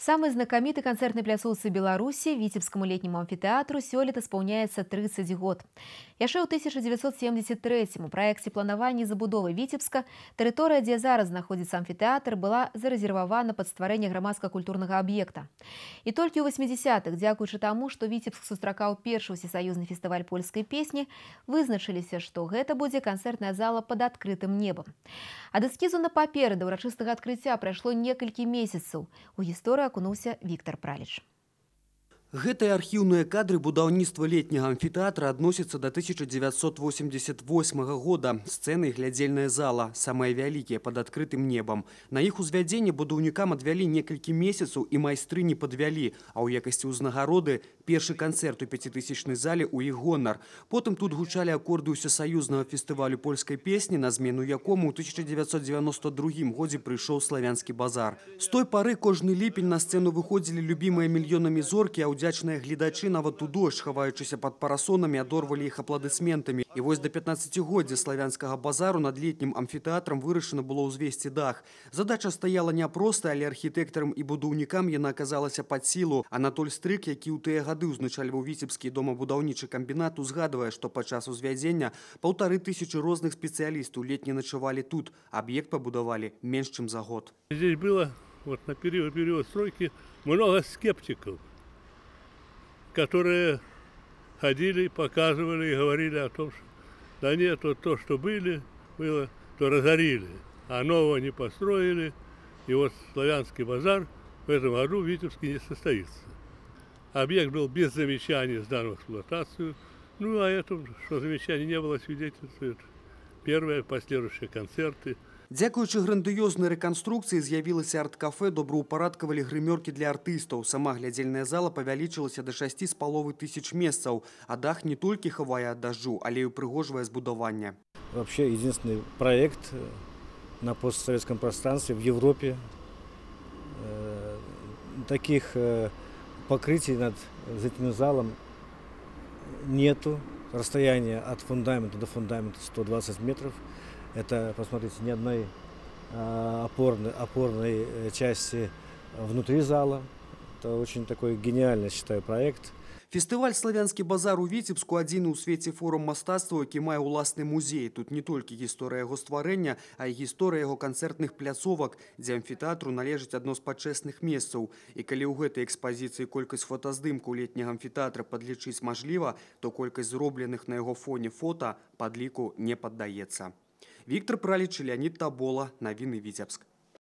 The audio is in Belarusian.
Самой знакамітай канцэртнай пляцоўцы Беларусі віцебскаму летняму амфітэатру сёлета спаўняецца 30 год. Яшчэ ў 1973 у праекце планавання і забудовы Віцебска тэрыторыя, дзе зараз знаходзіцца амфітэатр, была зарэзервавана пад стварэнне грамадска-культурнага аб'екта. І толькі ў 80-х, дзякуючы таму, што Віцебск сустракаў першы ўсесаюзны фестываль польскай песні, вызначыліся, што гэта будзе канцэртная зала пад адкрытым небам. Ад эскізу на паперы да ўрачыстага адкрыцця прайшло некалькі месяцаў. У гісторыю акунуўся Віктор Праліч. Гэтыя архіўныя кадры будаўніцтва летняга амфітэатра адносяцца да 1988 года. Сцэны і глядзельная зала, самыя вялікія пад адкрытым небам. На іх узвядзенне будаўнікам адвялі некалькі месяцаў і майстры не падвялі, а ў якасці ўзнагароды першы канцэрт у 5000-й зале ў іх гонар. Потым тут гучалі акорды ўсесаюзнага фестывалю польскай песні, на змену якому ў 1992 годзе прыйшоў славянскі базар. З той пары кожны ліпень на сцэну выходзілі любімыя мільёнамі зоркі, а удзячныя гледачы нават у дождж, хаваючыся пад парасонамі, адорвалі іх апладысментамі. І вось да 15-годдзя славянскага базару над летнім амфітэатрам вырашана было ўзвесці дах. Задача стаяла няпростая, але архітэктарам і будаўнікам яна аказалася пад сілу. Анатоль Стрык, які ў тыя гады ўзначальваў віцебскі домабудаўнічы камбінат, узгадвае, што падчас узвядзення 1500 розных спецыялістаў летне начавалі тут. Аб'ект пабудавалі менш чым за год. Здесь было на период стройки много скептиков, которые ходили, показывали и говорили о том, что да нет, вот то, что было, то разорили, а нового не построили. И вот славянский базар в этом году в Витебске не состоится. Объект был без замечаний сдан в эксплуатацию. Ну, а это, что замечаний не было, свидетельствует первые последующие концерты. Дзякуючы грандыёзнай рэканструкцыі з'явілася арт-кафе, добраўпарадкавалі грымёркі для артыстаў. Сама глядзельная зала павялічылася да 6500 месцаў, а дах не толькі хавае ад дажджу, але і упрыгожвае збудаванне. Вообще единственный проект на постсоветском пространстве в Европе. Таких покрытий над этим залом нету. Расстояние от фундамента до фундамента 120 метров. Это, посмотрите, ни одной опорной части внутри зала. Это очень такой гениальный, считаю, проект. Фестываль «Славянскі базар» у Віцебску адзіны ў свеце форум мастацтва, які мае ўласны музей. Тут не толькі гісторыя яго стварэння, а і гісторыя яго канцэртных пляцовак, дзе амфітэатру належыць адно з пачэсных месцаў. І калі ў гэтай экспазіцыі колькасць фотаздымкаў летняга амфітэатра падлічыць мажліва, то колькасць зробленых на яго фоне фота падліку не паддаецца. Віктор Праліч, Леонид Табола. Навіны Віцебск.